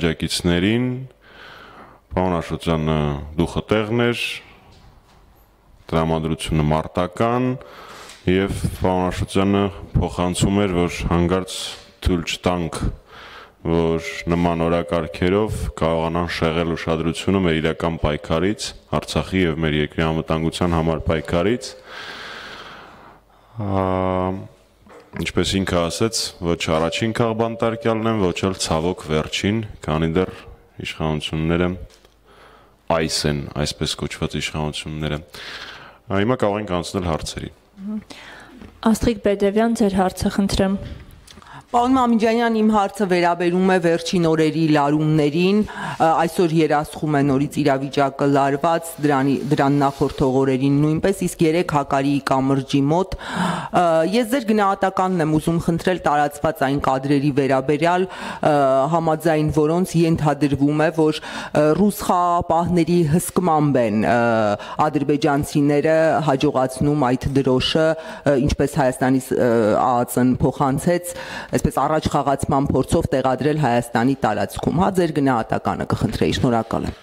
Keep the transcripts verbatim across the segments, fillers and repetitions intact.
աջակիցներին, պարոն Աշոտյանը դուխը տեղն էր, տրամադրությունը մարտական եւ պարոն Աշոտյանը փոխանցում էր, որ հանգարց թույլ չտանք, որ նման օրակարգերով կարողանան շեղել ուշադրությունը մեր իրական պայքարից, Արցախի եւ մեր երկրի անվտանգության համար պայքարից։ Ինչպես ինքը ասեց, ոչ առաջին քաղբանտարկյալն են, ոչ էլ ցավոք վերջին, քանի դեռ իշխանությունները այս են, այսպես կոչված իշխանությունները։ Հիմա կարող ենք անցնել հարցերի։ Աստղիկ Բերդևյան, ձեր հարցը խնդրեմ։ Պարոն Մամիջանյան, իմ հարցը վերաբերում է վերջին օրերի լարումներին, այսօր երասխում է նորից իրավիճակը լարված, դրան նախորդող օրերին նույնպես, իսկ երեք Հակարիի կամրջի մոտ։ Ես ձեր գնահատականն եմ ուզում խնդրել տարածված այն կադրերի վերաբերյալ, համաձայն որոնց ենթադրվում է, որ ռուս խաղաղապահների հսկմամբ են ադրբեջանցիները հաջողացնում այդ դրոշը, ինչպես Հայաստանի ԱԱԾ-ն փոխանցեց, այսպես առաջ խաղացման փորձով տեղադրել Հայաստանի տարածքում, հա, ձեր գնահատականը կխնդրեի, շնորհակալ եմ։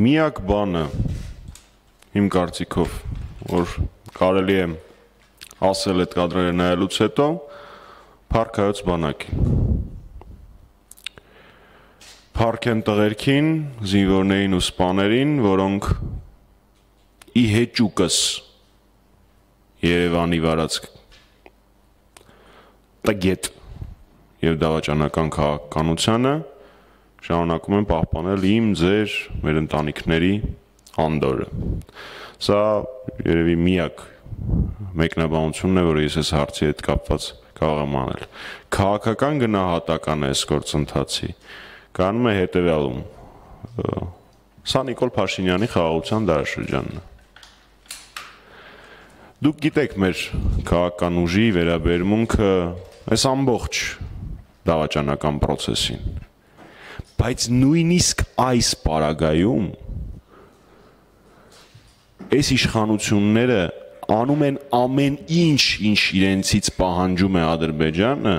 Միակ բանը, իմ կարծիքով, որ կարելի է ասել այդ կադրերը նայելուց հետո, փառք Հայոց բանակին։ Փառք են տղերքին, զինվորներին ու սպաներին, որոնք ի հեճուկս Երևանի վարած տգետ եւ դավաճանական քաղաքականությանը շարունակում են պահպանել իմ, ձեր, մեր ընտանիքների անդորը։ Սա երևի միակ մեկնաբանությունն է, որը ես այս հարցի հետ կապված կարող եմ անել։ Քաղաքական գնահատականը այս գործընթացի կանում է հետեւյալում։ Սա Նիկոլ Փաշինյանի խաղաղության դարաշրջանն է։ Դուք գիտեք մեր քաղաքական ուժի վերաբերմունքը այս ամբողջ դավաճանական process-ին, բայց նույնիսկ այս պարագայում այս իշխանությունները անում են ամեն ինչ, ինչ իրենցից պահանջում է Ադրբեջանը,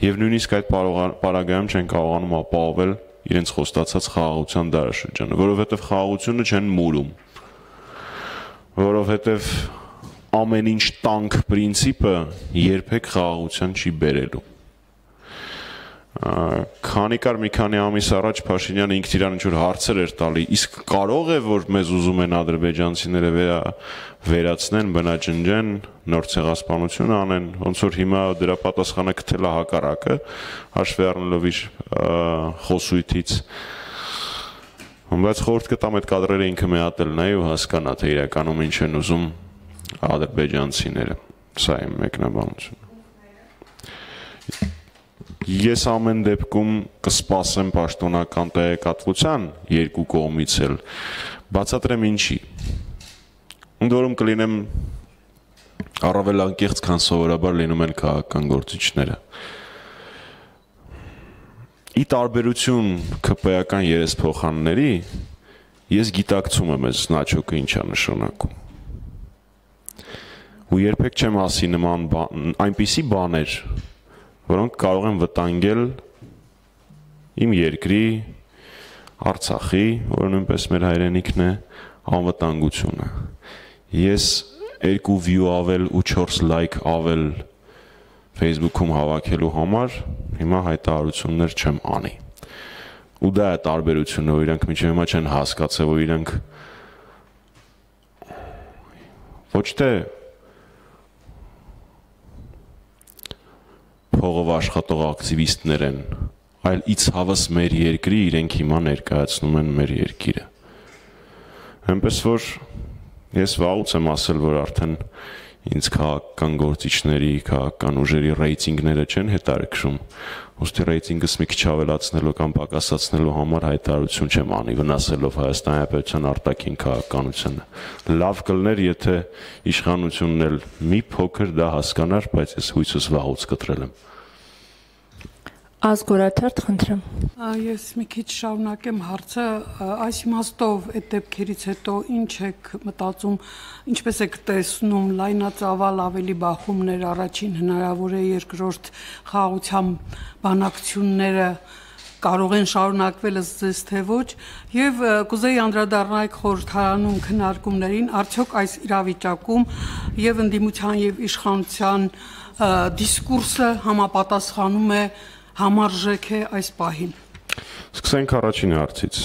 եւ նույնիսկ այդ պարագայում չեն կարողանում ապահովել իրենց խոստացած խաղաղության դարաշրջանը, որովհետեւ խաղաղությունը չեն մուրում, որովհետև ամեն ինչ տանկ պրինցիպը երբեք խաղաղության չի բերելու։ Քանի կար մի քանի ամիս առաջ Փաշինյանը ինքն իրան ինչ-որ հարցեր էր տալի, իսկ կարող է, որ մեզ ուզում են ադրբեջանցիները վերացնեն, բնաջնջեն, նոր ցեղասպանություն անեն, ոնց որ հիմա դրա պատասխանը գտել է հակառակը, հաշվի առնելով իր խոսույթից։ Բայց խորհուրդ կտամ այդ կադրերը ինքը մեհատել նայ ու հասկանա, թե իրականում ինչ են ուզում ադրբեջանցիները։ Սա իմ մեկնաբանությունը։ Ես ամեն դեպքում կսպասեմ պաշտոնական տեղեկատվության երկու կողմից էլ, բացատրեմ ինչի։ Ընդ որում կլինեմ առավել անկեղծ, քան սովորաբար լինում են քաղաքական գործիչները։ Ի տարբերություն ՔՊ-ական երեսփոխանների, ես գիտակցում եմ այս նաչոկը ինչա նշանակում։ Ու երբեք չեմ ասի նման այնպիսի բաներ, որոնք կարող են վտանգել իմ երկրի, Արցախի, որը նույնպես մեր հայրենիքն է, անվտանգությունը։ Ես երկու view ավել ու չորս like ավել Facebook-ում հավաքելու համար հիմա հայտարարություններ չեմ անի։ Ու դա է տարբերությունը, որ իրանք մինչև հիմա չեն հասկացել, որ իրանք ոչ թե փողով աշխատող ակտիվիստներ են, այլ իցհավս մեր երկրի իրենք հիմա ներկայացնում են մեր երկիրը։ Այնպես որ ես վաղուց եմ ասել, որ արդեն ինձ քաղաքական գործիչների, քաղաքական ուժերի ռեյտինգները չեն հետարքրում, ուստի ռեյտինգս մի քիչ ավելացնելու կամ պակասացնելու համար հայտարարություն չեմ անի, վնասելով Հայաստանի Հանրապետության արտաքին քաղաքականությունը։ Լավ կլներ, եթե իշխանությունն էլ մի փոքր դա հասկանար, բայց ես հույսս վաղուց կտրել եմ։ Ազգորաթերթ, խնդրեմ։ Ես մի քիչ շարունակեմ հարցը, այս իմաստով այդ դեպքերից հետո ինչ եք մտածում, ինչպես եք տեսնում լայնածավալ ավելի բախումներ, առաջին հնարավոր է երկրորդ խաղաղության բանակցությունները կարող են շարունակվել ըստ ձեզ թե ոչ, եւ կուզեի անդրադառնալ խորհրդարանում քննարկումներին, արդյոք այս իրավիճակում եւ ընդդիմության եւ իշխանության դիսկուրսը համապատասխանում է համարժեք է այս պահին։ Սկսենք առաջին հարցից։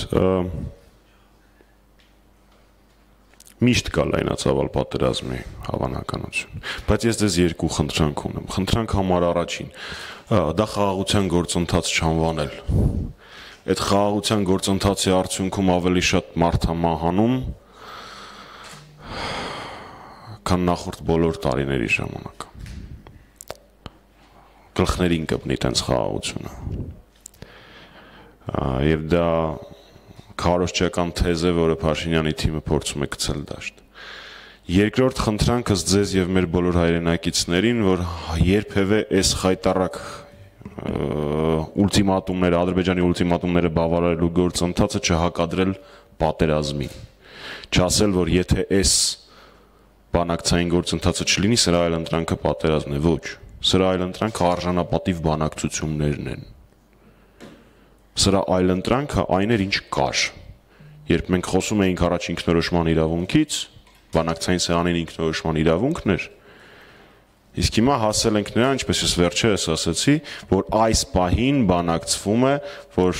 Միշտ կա լայնածավալ պատերազմի հավանականություն, բայց ես ձեզ երկու խնդրանք ունեմ։ Խնդրանք համար առաջին, դա խաղաղության գործընթաց չանվանել։ Այդ խաղաղության գործընթացի արդյունքում ավելի շատ մարդ է մահանում, քան նախորդ բոլոր տարիների ժամանակ։ Գլխներին կպնի տենց խաղաղությունը։ Եվ դա քարոզչական թեզ է, որը Փաշինյանի թիմը փորձում է գցել դաշտ։ Երկրորդ խնդրանքս ձեզ եւ մեր բոլոր հայրենակիցներին, որ երբևէ այս խայտառակ ուլտիմատումները, Ադրբեջանի ուլտիմատումները բավարարելու գործընթացը չհակադրել պատերազմին։ Չասել, որ եթե այս բանակցային գործընթացը չլինի, սրա այլընտրանքը պատերազմն է, ոչ։ Սրա այլընտրանքը արժանապատիվ բանակցություններն են։ Սրա այլընտրանքը այն էր, ինչ կար։ Երբ մենք խոսում էինք առաջ ինքնորոշման իրավունքից, բանակցային սեղանին ինքնորոշման իրավունքն էր, իսկ հիմա հասել ենք նրան, ինչպես ես վերջերս ասացի, որ այս պահին բանակցվում է, որ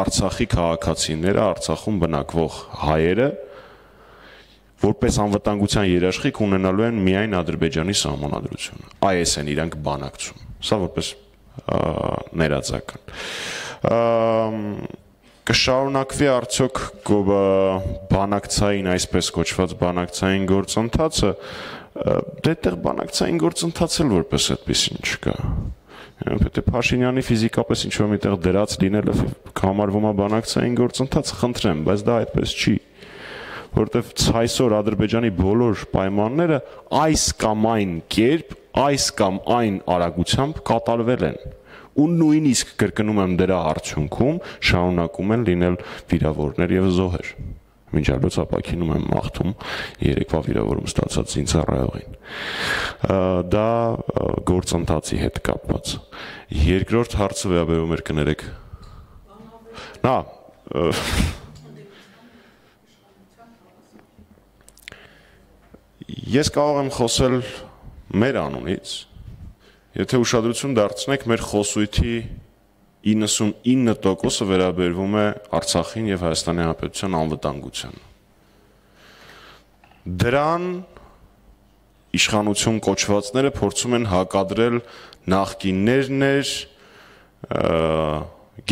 Արցախի քաղաքացիները, Արցախում բնակվող հայերը, որպես անվտանգության երաշխիք ունենալու են միայն Ադրբեջանի սահմանադրությունը։ Այս են իրանք բանակցում։ Սա որպես ներածական։ Կշարունակվի արդյոք բանակցային, այսպես կոչված բանակցային գործընթացը, դետեղ բանակցային գործընթաց էլ որպես այդպեսին չկա։ Պետք է Փաշինյանի ֆիզիկապես ինչ-որ միտեղ դրած լինելը համարվում է բանակցային գործընթաց, խնդրեմ, բայց դա այդպես չի։ Որտեվ այսօր Ադրբեջանի բոլոր պայմանները այս կամ այն կերպ, այս կամ այն արագությամբ կատարվել են։ Ու նույնիսկ կրկնում եմ դրա արդյունքում շարունակում են լինել վիրավորներ եւ զոհեր։ Մինչ այլոց ապակինում եմ մաղթում երեկվա վիրավորում ստացած զինծառայողին։ Դա գործընթացի հետ կապված։ Երկրորդ հարցը վերաբերում էր կներեք։ Նա Ես կարող եմ խոսել մեր անունից, եթե ուշադրություն դարձնեք մեր խոսույթի իննսունինը տոկոսը վերաբերվում է Արցախին եւ Հայաստանի Հանրապետության անվտանգությանը։ Դրան իշխանություն կոչվածները փորձում են հակադրել նախկիններներ,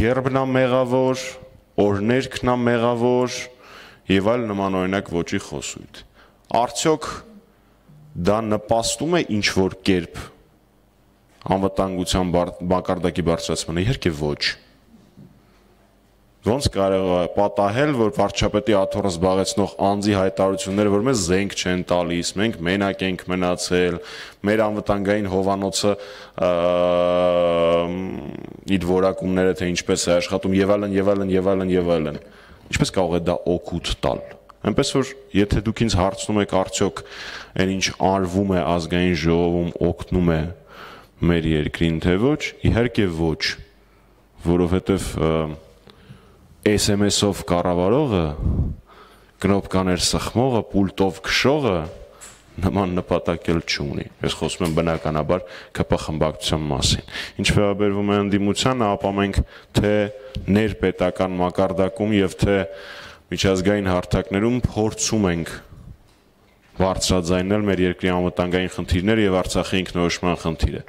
գերբնամեղավոր, օրներքնամեղավոր եւ այլ նմանօրինակ ոճի խոսույթ։ Արդյոք դա նպաստում է ինչ-որ կերպ անվտանգության մակարդակի բարձրացմանը, իհարկե ոչ։ Ոնց կարող է պատահել, որ վարչապետի աթոռը զբաղեցնող անձի հայտարարությունները, որ մեզ զենք չեն տալիս, մենք մենակ ենք մնացել, մեր անվտանգային հովանոցը իր որակումները թե ինչպես է աշխատում եւ այլն եւ այլն եւ այլն եւ այլն։ Ինչպես կարող է դա օգուտ տալ։ Այնպես որ եթե դուք ինձ հարցնում եք արդյոք այն ինչ արվում է ազգային ժողովում օգնում է մեր երկրին թե ոչ, իհարկե ոչ, որովհետև էս էմ էս-ով կառավարողը, կնոպկաներ սխմողը, պուլտով քշողը նման նպատակ էլ չունի։ Ես խոսում եմ բնականաբար K P խմբակցության մասին։ Ինչ վերաբերվում է ընդդիմությանը, ապա մենք թե ներպետական մակարդակում եւ թե միջազգային հարթակներում փորձում ենք բարձրաձայնել մեր երկրի անվտանգային խնդիրները եւ Արցախի ինքնորոշման խնդիրը։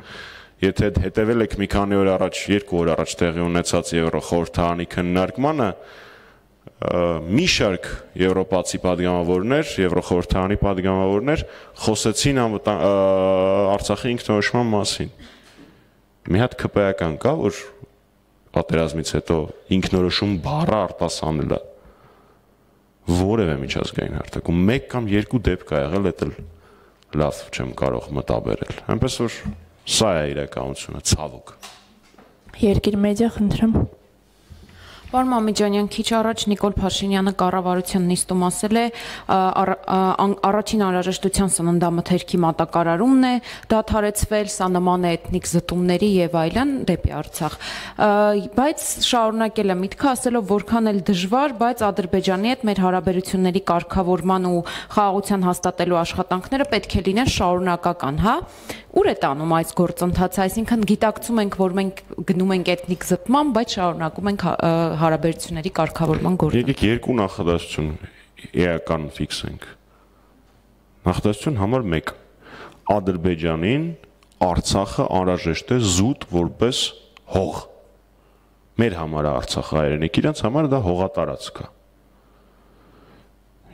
Եթե հետևել եք մի քանի օր առաջ, երկու օր առաջ տեղի ունեցած Եվրոխորհրդարանի քննարկմանը, մի շարք եվրոպացի падգամավորներ, Եվրոխորհրդարանի падգամավորներ խոսեցին Արցախի ինքնորոշման մասին։ Մի հատ K P-ական կա, որ պատերազմից հետո ինքնորոշում բառը արտասանել է որևէ միջազգային հարթակում մեկ կամ երկու դեպք ա եղել, դա լավ չեմ կարող մտաբերել։ Այնպես որ սա է իրականությունը, ցավոք։ Երկիր մեդիա, խնդրեմ։ Պարոն Մամիջանյան, քիչ առաջ Նիկոլ Փաշինյանը կառավարության նիստում ասել է առաջին անհրաժեշտության սննդամթերքի մատակարարումն է դադարեցվել, սա նման է էթնիկ զտումների եւ այլն դեպի Արցախ։ Բայց շարունակել է միտքը ասելով, որքան էլ դժվար, բայց Ադրբեջանի հետ մեր հարաբերությունների կարգավորման ու խաղաղության հաստատելու աշխատանքները պետք է լինեն շարունակական, հա։ Ուր է տանում այս գործընթացը, այսինքն գիտակցում ենք, որ մենք գնում ենք էթնիկ զտման, բայց շարունակում ենք հարաբերությունների կարգավորման գործը։ Եկեք երկու նախադասություն էական ֆիքսենք։ Նախադասություն համար մեկ. Ադրբեջանին Արցախը անհրաժեշտ է զուտ որպես հող։ Մեր համար է Արցախը հայրենիք, իրենց համար դա հողատարածք է։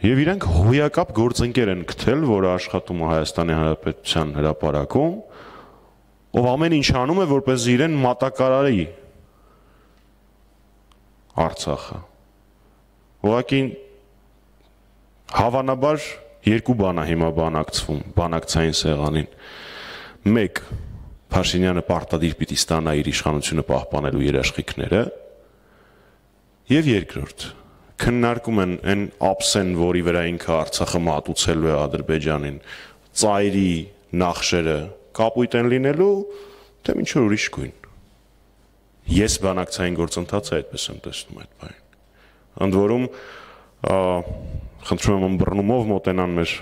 Եվ իրենք հոյակապ գործընկեր են գտել, որը աշխատում է Հայաստանի Հանրապետության հրապարակում, ով ամեն ինչ անում է, որպես իրեն մատակարարի Արցախը։ Ուղղակի հավանաբար երկու բան է հիմա բանակցվում, բանակցային սեղանին։ Մեկ, Փաշինյանը պարտադիր պիտի ստանա իր իշխանությունը պահպանելու երաշխիքները, եւ երկրորդ, քննարկում են այն ափսեն, որի վրա ինքը Արցախը մատուցելու է Ադրբեջանին, ծայրի նախշերը կապույտ են լինելու, թե ինչ որ ուրիշ գույն։ Ես բանակցային գործընթացը այդպես եմ տեսնում այդ բանին։ Ընդ որում, խնդրում եմ ըմբռնումով մոտենան մեր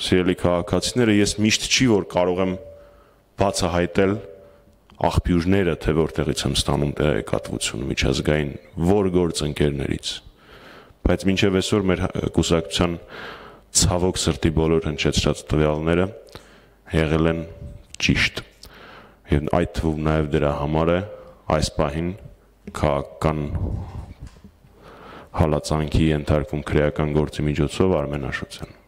սիրելի քաղաքացիները, ես միշտ չի որ կարող եմ բացահայտել աղբյուրները, թե որտեղից եմ ստանում տեղեկատվությունը միջազգային որ գործընկերներից, բայց մինչև այսօր մեր կուսակցության ցավոք սրտի բոլոր հնչեցրած տվյալները եղել են ճիշտ, եւ այդ թվում նաեւ դրա համար է այս պահին քաղաքական հալածանքի ենթարկվում քրեական գործի միջոցով Արմեն Աշոտյան։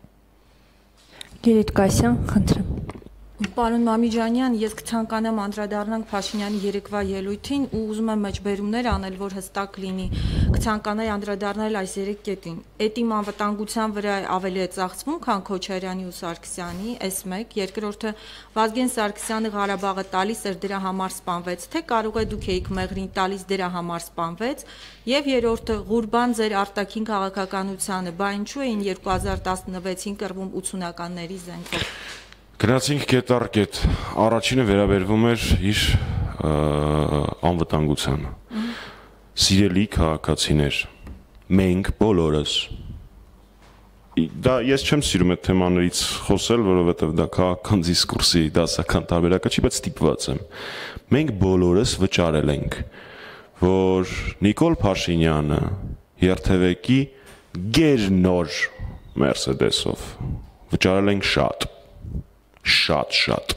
Գերիտ Կասյան, խնդրեմ։ Պարոն Մամիջանյան, ես կցանկանամ անդրադառնանք Փաշինյանի երեկվա ելույթին ու ուզում եմ մեջբերումներ անել, որ հստակ լինի։ Կցանկանայի անդրադառնալ այս երեք կետին։ Էտիմ անվտանգության վրա ավելի է ծախսվում, քան Քոչարյանի ու Սարգսյանի, էս մեկ, երկրորդը Վազգեն Սարգսյանը Ղարաբաղը տալիս էր դրա համար սպանվեց, թե կարող է դուք էիք մեղրին տալիս դրա համար սպանվեց, եւ երրորդը Ղուրբան ձեր արտաքին քաղաքականությանը, բա ինչու էին երկու հազար տասնվեցին կռվում ութսունականների զենքով։ Գնացինք կետ առ կետ, առաջինը վերաբերվում էր իր անվտանգությանը։ Սիրելի քաղաքացիներ, մենք բոլորս, դա ես չեմ սիրում այդ թեմաներից խոսել, որովհետև դա քաղաքական դիսկուրսի դասական տարբերակը չի, բայց ստիպված եմ։ Մենք բոլորս վճարել ենք, որ Նիկոլ Փաշինյանը երթևեկի գերնոր Մերսեդեսով վճարել ենք շատ շատ-շատ։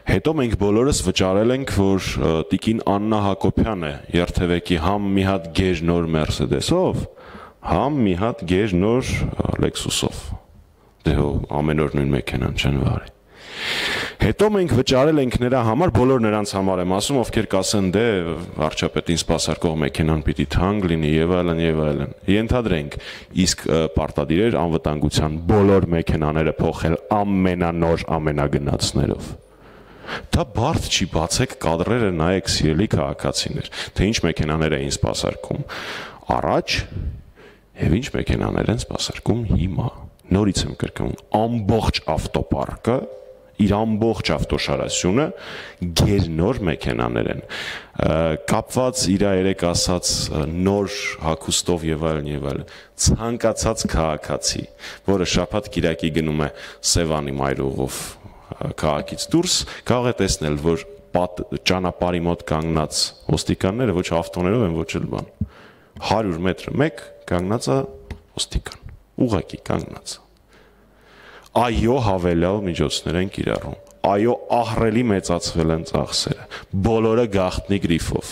Հետո մենք բոլորս վճարել ենք, որ տիկին Աննա Հակոբյանը երթևեկի համ մի հատ գերնոր Մերսեդեսով, համ մի հատ գերնոր Լեքսուսով։ Դե հո ամեն օր նույն մեքենան չեն վարի։ Հետո մենք վճարել ենք նրա համար, բոլոր նրանց համար եմ ասում, ովքեր կասեն դե վարչապետին սպասարկող մեքենան պիտի թանկ լինի եւ այլն եւ այլն։ Ենթադրենք, իսկ պարտադիր էր անվտանգության բոլոր մեքենաները փոխել ամենանոր ամենագնացներով։ Դա բարդ չի, բացեք կադրերը նայեք սիրելի քաղաքացիներ, թե ինչ մեքենաներ էին սպասարկում առաջ եւ ինչ մեքենաներ են սպասարկում հիմա։ Նորից եմ կրկնում, ամբողջ ավտոպարկը իր ամբողջ ավտոշարասյունը գերնոր մեքենաներ են, կապված իր երեք ասած նոր հագուստով եւ այլն եւ այլն, ցանկացած քաղաքացի, որը շաբաթ կիրակի գնում է Սևանի մայրուղով քաղաքից դուրս, կարող է տեսնել, որ ճանապարհի մոտ կանգնած ոստիկանները ոչ ավտոներով են, ոչ էլ բան, հարյուր մետր մեկ կանգնած է ոստիկան, ուղղակի կանգնած։ Այո, հավելյալ միջոցներ են կիրառում, այո, ահռելի մեծացվել են ծախսերը, բոլորը գաղտնի գրիֆով,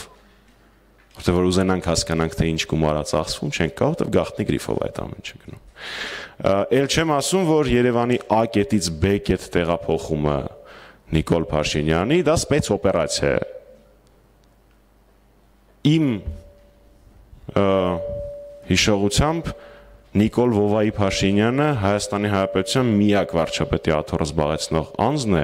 որտեղ որ ուզենանք հասկանանք, թե ինչ գումար է ծախսվում, չենք կարող, որտեղ գաղտնի գրիֆով այդ ամենը չգնում։ Էլ չեմ ասում, որ Երևանի A կետից B կետ տեղափոխումը Նիկոլ Փաշինյանի, դա սպեցօպերացիա է։ Իմ հիշողությամբ Նիկոլ Վովայի Փաշինյանը Հայաստանի Հանրապետության միակ վարչապետի աթոռը զբաղեցնող անձն է,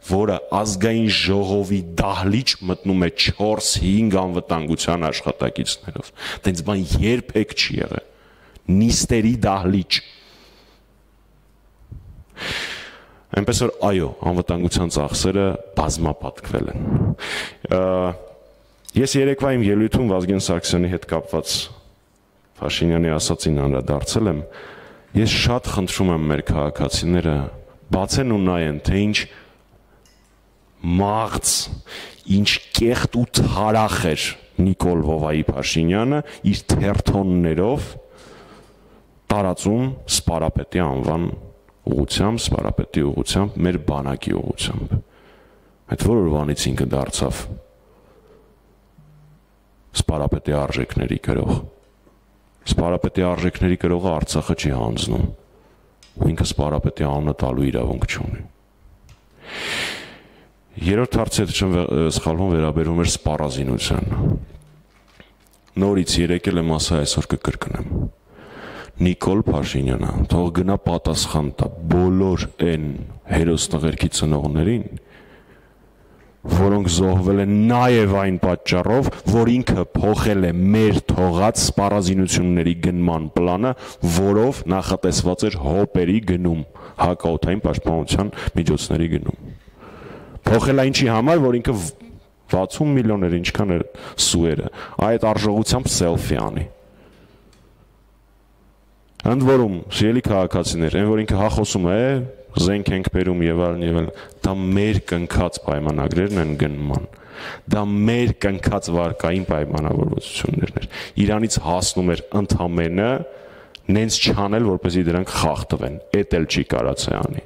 որը ազգային ժողովի դահլիճ մտնում է չորս հինգ անվտանգության աշխատակիցներով։ Դենց բան երբեք չի եղել։ Նիստերի դահլիճ։ Այնպես որ այո, անվտանգության ծախսերը բազմապատկվել են։ Ես երեկվա իմ ելույթում Վազգեն Սարգսյանի հետ կապված Փաշինյանի ասացին անդրադարձել եմ, ես շատ խնդրում եմ մեր քաղաքացիները բացեն ու նայեն, թե ինչ մաղձ, ինչ կեղտ ու թարախ էր Նիկոլ Վովայի Փաշինյանը իր թերթոններով տարածում սպարապետի անվան ուղղությամբ, սպարապետի ուղղությամբ, մեր բանակի ուղղությամբ։ Այդ որ օրվանից ինքը դարձավ սպարապետի արժեքների գրող։ Սպարապետի արժեքների գրողը Արցախը չի հանձնում, ու ինքը սպարապետի անունը տալու իրավունք չունի։ Երրորդ հարցը, եթե չեմ սխալվում, վերաբերում էր սպառազինության։ Նորից եկել եմ ասա, այսօր կկրկնեմ։ Նիկոլ Փաշինյանը թող գնա պատասխան տա բոլոր այն հերոստղերքի ծնողներին, որոնք զոհվել են նաև այն պատճառով, որ ինքը փոխել է մեր թողած սպառազինությունների գնման պլանը, որով նախատեսված էր հոպերի գնում, հակաօդային պաշտպանության միջոցների գնում։ Փոխել է ինչի համար, որ ինքը վաթսուն միլիոն էր, ինչքան էր սուերը, այդ արժողությամբ սելֆի անի։ Ընդ որում, սիրելի քաղաքացիներ, այն որ ինքը հախոսում է, զենք ենք բերում եւ այլն եւ այլն, դա մեր կնքած պայմանագրերն են գնման։ Դա մեր կնքած վարկային պայմանավորվածություններն էր։ Իրանից հասնում էր ընդամենը նենց չանել, որպեսզի դրանք խախտվեն։ Էդ էլ չի կարաց է անի։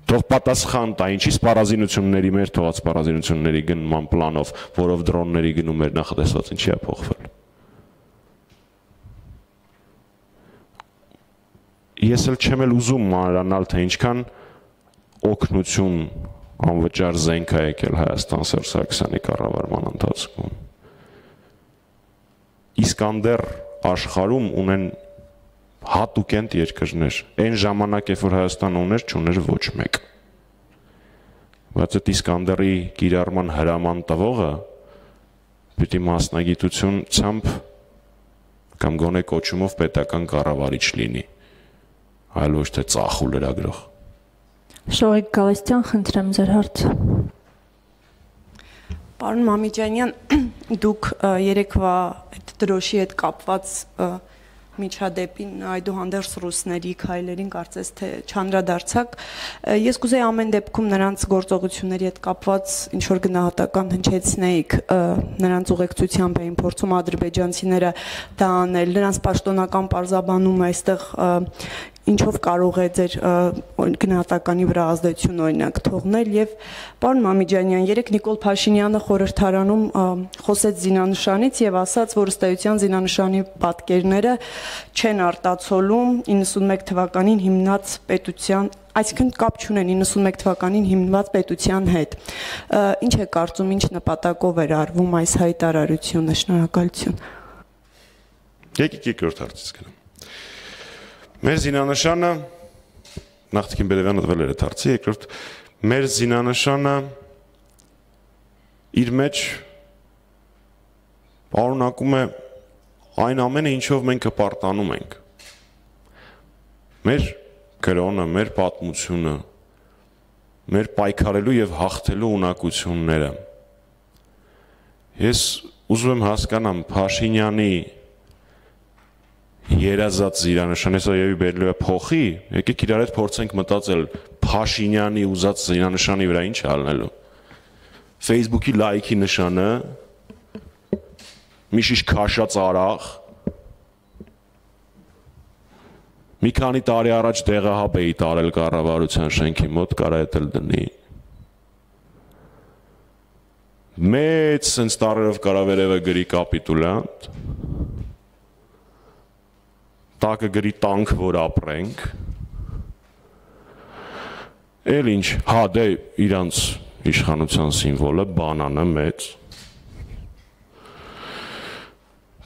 Թող պատասխան տա, ինչի սպառազինությունների մեր թողած սպառազինությունների գնման պլանով, որով դրոնների գնում էր նախատեսված, ինչի է փոխվել։ Ես էլ չեմ էլ ուզում մանրանալ, թե ինչքան օգնություն անվճար զենք է եկել Հայաստան Սերժ Սարգսյանի կառավարման ընթացքում։ Իսկանդեր աշխարհում ունեն հատուկենտ երկրներ։ Այն ժամանակ, երբ որ Հայաստանը ուներ, չուներ ոչ մեկ։ Բայց այդ Իսկանդերի կիրառման հրաման տվողը պիտի մասնագիտությունությամբ կամ գոնե կոչումով պետական կառավարիչ լինի, այլ ոչ թե ծախու լրագրող։ Շողիկ Գալստյան, խնդրեմ ձեր հարցը։ Պարոն Մամիջանյան, դուք երեկվա այդ դրոշի հետ կապված միջադեպին այդուհանդերձ ռուսների քայլերին կարծես թե չանդրադարձակ։ Ես կուզեի ամեն դեպքում նրանց գործողությունների հետ կապված ինչ որ գնահատական հնչեցնեիք, նրանց ուղեկցությամբ էին փորձում ադրբեջանցիները դա անել, նրանց պաշտոնական պարզաբանումը այստեղ ինչով կարող է ձեր գնահատականի վրա ազդեցություն օրինակ թողնել եւ պարոն Մամիջանյան, երեք Նիկոլ Փաշինյանը խորհրդարանում խոսեց զինանշանից եւ ասաց, որ ըստ էության զինանշանի պատկերները չեն արտացոլում իննսունմեկ թվականին հիմնած պետության, այսինքն կապ չունեն իննսունմեկ թվականին հիմնված պետության հետ։ Ինչ է կարծում, ինչ նպատակով էր արվում այս հայտարարությունը։ Շնորհակալություն։ Եկեք երկրորդ հարցից գնամ։ Մեր զինանշանը նախտին Բերևյանը տվել էր այդ հարցի, երկրորդ մեր զինանշանը իր մեջ պարունակում է այն ամենը, ինչով մենք հպարտանում ենք։ Մեր կրոնը, մեր պատմությունը, մեր պայքարելու եւ հաղթելու ունակությունները։ Ես ուզում եմ հասկանամ Փաշինյանի երազած զինանշանը, հեսա եւի բերելու է փոխի, եկեք իրար հետ փորձենք մտածել Փաշինյանի ուզած զինանշանի վրա ինչ ալնելու։ Facebook-ի լայքի նշանը, մի շիշ քաշած արաղ, մի քանի տարի առաջ տեղահապ էի տարել կառավարության շենքի մոտ, կարա էդ էլ դնի։ Մեծ սենց տարերով կարա վերևը գրի կապիտուլյանտ, տակը գրի տանք, որ ապրենք, էլ ինչ, հա դե իրանց իշխանության սիմվոլը, բանանը մեծ,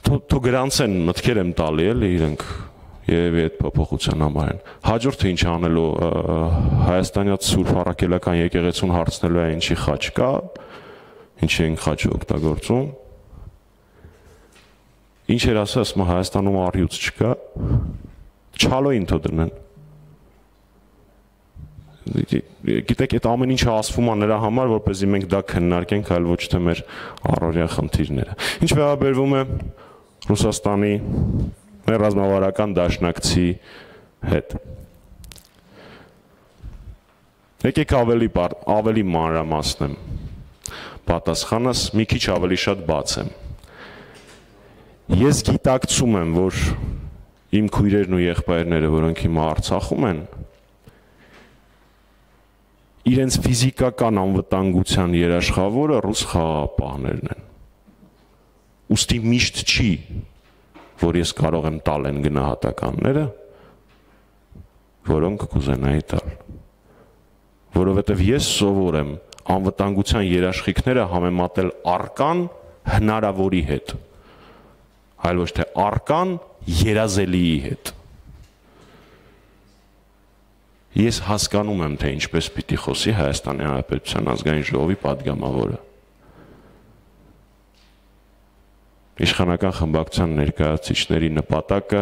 թող գրանցեն, մտքեր եմ տալի էլի իրենք եւ այդ փոփոխության համար են։ Հաջորդը ինչ անելու հայաստանյաց Սուրբ Առաքելական եկեղեցուն հարցնելու է ինչի խաչ կա, ինչի են խաչը օգտագործում։ Ինչ էր ասա, ասում Հայաստանում առյուծ չկա, չալոին թող դնեն։ Գիտեք, այդ ամեն ինչը ասվում է նրա համար, որպեսզի մենք դա քննարկենք, այլ ոչ թե մեր առօրյա խնդիրները։ Ինչ վերաբերվում է Ռուսաստանի մեր ռազմավարական դաշնակցի հետ։ Եկեք ավելի ավելի մանրամասնեմ։ Պատասխանս մի քիչ ավելի շատ բաց եմ։ Ես գիտակցում եմ, որ իմ քույրերն ու եղբայրները, որոնք հիմա Արցախում են, իրենց ֆիզիկական անվտանգության երաշխավորը ռուս խաղաղապահներն են։ Ուստի միշտ չի, որ ես կարող եմ տալ են գնահատականները, որոնք կուզենայի տալ։ Որովհետև ես սովոր եմ անվտանգության երաշխիքները համեմատել առկան հնարավորի հետ, այլ ոչ թե առկան երազելիի հետ։ Ես հասկանում եմ, թե ինչպես պիտի խոսի Հայաստանի Հանրապետության ազգային ժողովի պատգամավորը։ Իշխանական խմբակցության ներկայացուցիչների նպատակը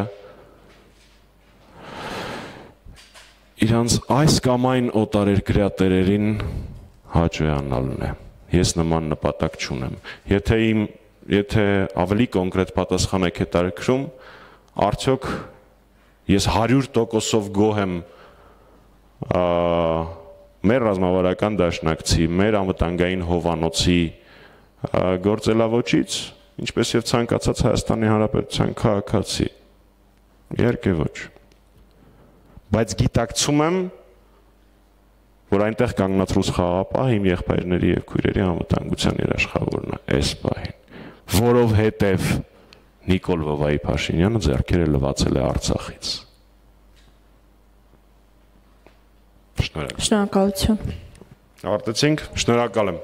իրանց այս կամ այն օտարերկրյա տերերին հաճոյանալն է։ Ես նման նպատակ չունեմ։ Եթե իմ, եթե ավելի կոնկրետ պատասխան եք հետաքրքրում, արդյոք ես հարյուր տոկոսով գոհ եմ մեր ռազմավարական դաշնակցի, մեր անվտանգային հովանոցի գործելավոճից, ինչպես եւ ցանկացած Հայաստանի Հանրապետության քաղաքացի։ Իհարկե ոչ։ Բայց գիտակցում եմ, որ այնտեղ կանգնած ռուս խաղաղապահը իմ եղբայրների եւ քույրերի անվտանգության երաշխավորն է այս պահին, որովհետեւ Նիկոլ Վովայի Փաշինյանը ձեռքերը լվացել է Արցախից։ Շնորհակալություն։ Ավարտեցինք, շնորհակալ եմ։